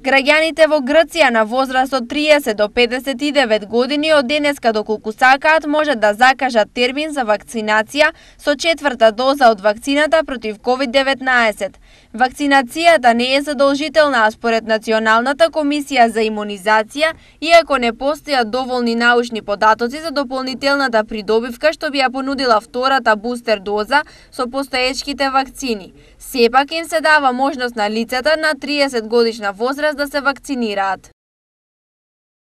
Граѓаните во Грција на возраст од 30 до 59 години од денеска доколку сакаат можат да закажат термин за вакцинација со четврта доза од вакцината против COVID-19. Вакцинацијата не е задолжителна, а според Националната комисија за имунизација, иако не постојат доволни научни податоци за дополнителната придобивка што би ја понудила втората бустер доза со постоечките вакцини. Сепак им се дава можност на лицата на 30 годишна возраст да се вакцинираат.